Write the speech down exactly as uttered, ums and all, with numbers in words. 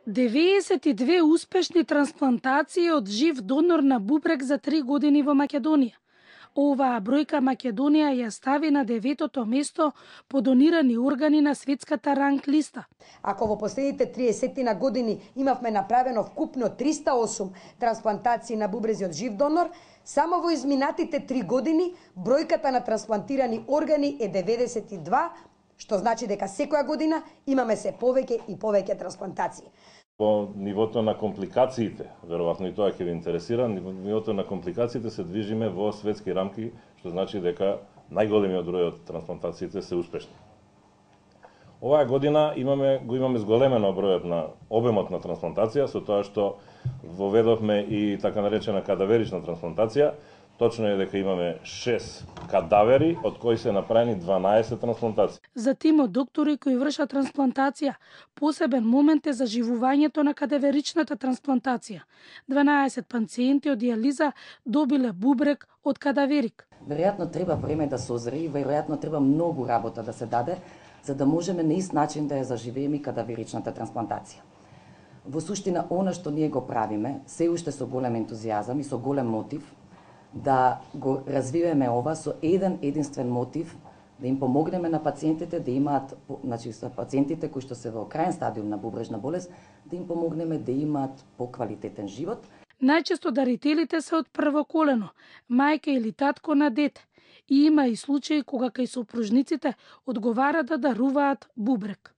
деветдесет и две успешни трансплантации од жив донор на бубрек за три години во Македонија. Оваа бројка Македонија ја стави на деветото место по донирани органи на светската ранг листа. Ако во последните триесет години имавме направено вкупно триста и осум трансплантации на бубрези од жив донор, само во изминатите три години бројката на трансплантирани органи е деветдесет и два, што значи дека секоја година имаме се повеќе и повеќе трансплантации. По нивото на компликациите, веројатно и тоа ќе ви интересира, нивото на компликациите се движиме во светски рамки, што значи дека најголемиот број од трансплантациите се успешни. Оваа година имаме го имаме зголемено бројот на обемот на трансплантација со тоа што воведовме и така наречена кадаверична трансплантација. Точно е дека имаме шест кадавери, од кои се направени дванаесет трансплантации. За тимот доктори кои вршат трансплантација, посебен момент е заживувањето на кадаверичната трансплантација. дванаесет пациенти од дијализа добиле бубрек од кадаверик. Веројатно треба време да созре и веројатно треба многу работа да се даде, за да можеме на ист начин да ја заживееме и кадаверичната трансплантација. Во суштина, она што ние го правиме, се уште со голем ентузијазам и со голем мотив, да го развиваме ова со еден единствен мотив, да им помогнеме на пациентите да имаат, значи за пациентите кои што се во крајен стадиум на бубрежна болест, да им помогнеме да имаат поквалитетен живот. Најчесто дарителите се од прво колено, мајка или татко на дете. И има и случаи кога кај сопружниците одговара да даруваат бубрек.